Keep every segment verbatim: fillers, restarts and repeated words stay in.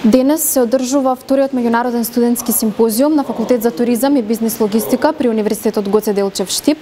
Денес се одржува вториот меѓународен студентски симпозиум на Факултет за туризам и бизнис логистика при Универзитетот Гоце Делчев Штип.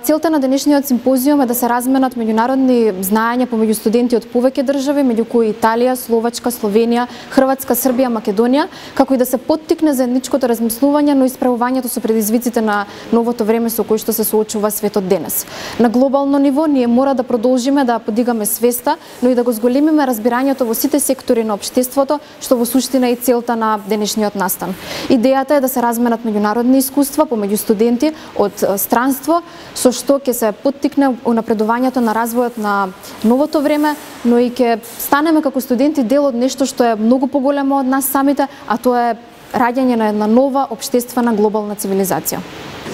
Целта на денешниот симпозиум е да се разменат меѓународни знаења помеѓу студенти од повеќе држави, меѓу кои Италија, Словачка, Словенија, Хрватска, Србија, Македонија, како и да се поттикне заедничкото размислување, но и справувањето со предизвиците на новото време со кои што се соочува светот денес. На глобално ниво ние мора да продолжиме да подигаме свеста, но и да го зголемиме разбирањето во сите сектори на општеството, што во суштина е целта на денешниот настан. Идејата е да се разменат меѓународни искуства помеѓу студенти од странство, со што ќе се поттикне унапредувањето на развојот на новото време, но и ќе станеме како студенти дел од нешто што е многу поголемо од нас самите, а тоа е раѓање на една нова општествена глобална цивилизација.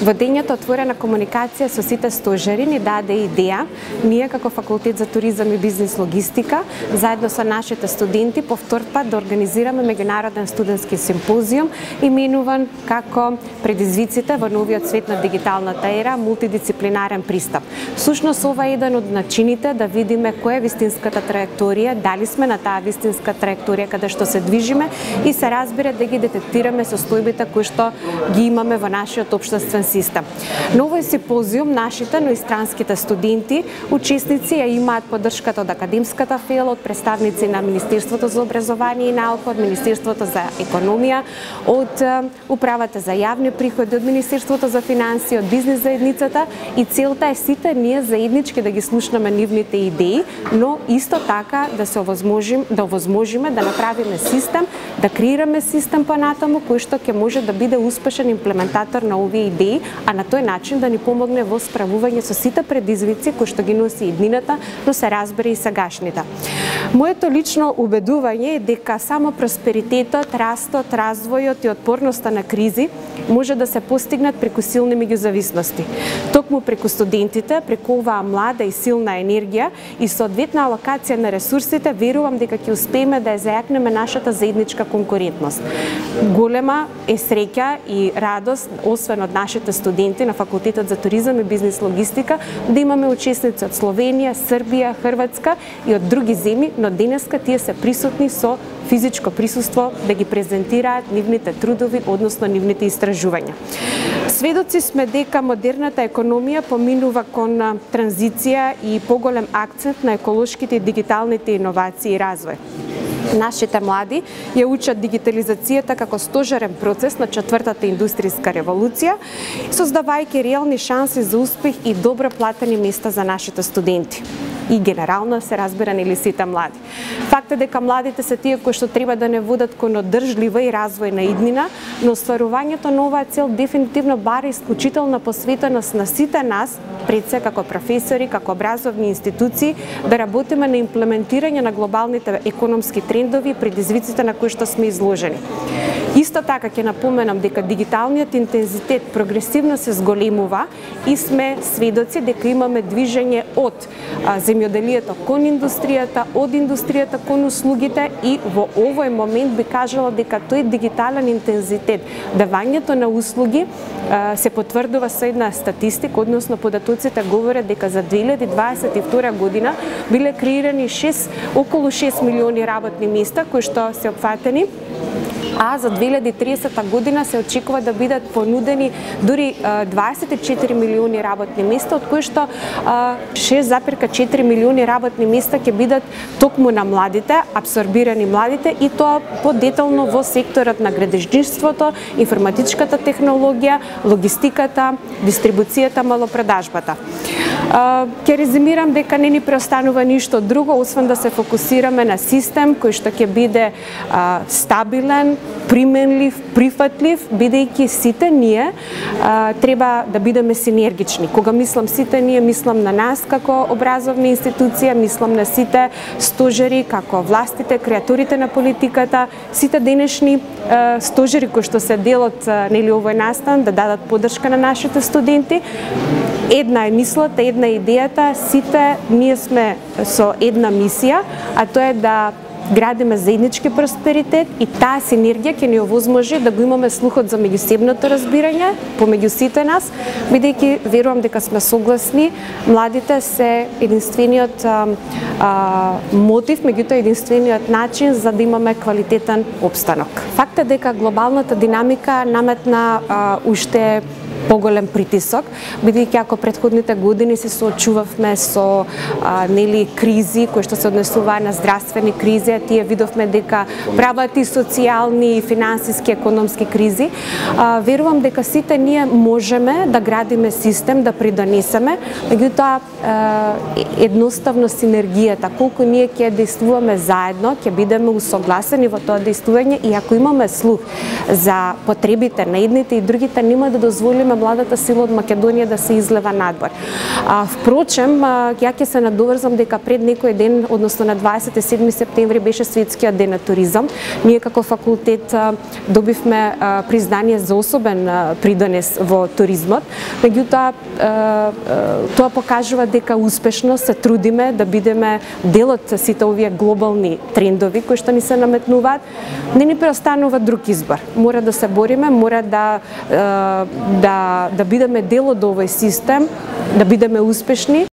Во дењето отворена комуникација со сите стожери ни даде идеја, ние како Факултет за туризам и бизнис логистика, заедно со нашите студенти, по втор пат да организираме меѓународен студентски симпозиум, именуван како предизвиците во новиот свет на дигиталната ера, мултидисциплинарен пристап. Сушност ова е еден од начините да видиме која е вистинската траекторија, дали сме на таа вистинска траекторија каде што се движиме и се разбира да ги детектираме состојбите кои што ги имаме во нашиот општествен систем. На овој симпозиум нашите, но и странските студенти, учесници ја имаат поддршката од академската фела, од представници на Министерството за образование и наука, од Министерството за економија, од Управата за јавни приходи, од Министерството за финансии, од бизнис заедницата, и целта е сите ние заеднички да ги слушнеме нивните идеи, но исто така да се овозможим, да овозможиме да направиме систем, да креираме систем понатаму кој што ќе може да биде успешен имплементатор на овие идеи, а на тој начин да ни помогне во справување со сите предизвици кои што ги носи иднината, но се разбира и сегашните. Моето лично убедување е дека само просперитетот, растот, развојот и отпорноста на кризи може да се постигнат преку силни меѓузависности. Токму преку студентите, преку оваа млада и силна енергија и соодветна алокација на ресурсите, верувам дека ќе успееме да ја зајакнеме нашата заедничка конкурентност. Голема е среќа и радост, освен од нашите студенти на Факултетот за туризам и бизнис логистика, да имаме учесници од Словенија, Србија, Хрватска и од други земји, но денеска тие се присутни со физичко присуство да ги презентираат нивните трудови, односно нивните истражувања. Сведоци сме дека модерната економија поминува кон транзиција и поголем акцент на еколошките и дигиталните иновации и развој. Нашите млади ја учат дигитализацијата како стожерен процес на четвртата индустријска револуција, создавајќи реални шанси за успех и добро платени места за нашите студенти. И генерално се разбира нели сите млади. Факт е дека младите се тие кои што треба да не водат кон одржлива и развојна иднина, но остварувањето на оваа цел дефинитивно бара исклучителна посветеност на сите нас, пред се како професори, како образовни институции, да работиме на имплементирање на глобалните економски трендови и предизвиците на кои што сме изложени. Исто така ќе напоменам дека дигиталниот интензитет прогресивно се зголемува и сме сведоци дека имаме движење од земјоделието кон индустријата, од индустријата кон услугите, и во овој момент би кажала дека тој дигитален интензитет, давањето на услуги, се потврдува со една статистика, односно податоците говорат дека за две илјади дваесет и втора година биле креирани шест, околу шест милиони работни места кои што се опфатени, а за две илјади и тридесета година се очекува да бидат понудени дури дваесет и четири милиони работни места, од кои што шест запирка четири милиони работни места ќе бидат токму на младите, абсорбирани младите, и тоа подетално во секторот на градежништвото, информатичката технологија, логистиката, дистрибуцијата, малопродажбата. Ќе резимирам дека не ни преостанува ништо друго, освен да се фокусираме на систем кој што ќе биде а, стабилен, применлив, прифатлив, бидејќи сите ние а, треба да бидеме синергични. Кога мислам сите ние, мислам на нас како образовна институција, мислам на сите стожери, како властите, креаторите на политиката, сите денешни а, стожери кои што се дел од нели овој настан, да дадат поддршка на нашите студенти. Една е мислата, една е идејата, сите ние сме со една мисија, а тоа е да градиме заеднички просперитет и таа синергија ќе ни овозможи да го имаме слухот за меѓусебното разбирање помеѓу сите нас, бидејќи верувам дека сме согласни, младите се единствениот а, а, мотив, меѓутоа единствениот начин за да имаме квалитетен опстанок. Факт е дека глобалната динамика наметна а, уште поголем притисок, бидејќи ако претходните години се соочувавме со а, нели кризи кои што се однесуваа на здравствени кризи, тие видовме дека прават и социјални и финансиски економски кризи, а, верувам дека сите ние можеме да градиме систем, да придонесеме, меѓутоа едноставно синергијата, колку ние ќе действуваме заедно, ќе бидеме усогласени во тоа действување и ако имаме слух за потребите на едните и другите, нема да дозволиме младата сила од Македонија да се излева надвор. А, впрочем, ја ќе се надоврзам дека пред некој ден, односно на дваесет и седми септември беше светскиот ден на туризам. Ние како факултет добивме признание за особен придонес во туризмот. Меѓутоа, тоа покажува дека успешно се трудиме да бидеме дел од сите овие глобални трендови кои што ни се наметнуваат. Не ни преостанува друг избор. Мора да се бориме, мора да да да бидеме дел од овој систем, да бидеме успешни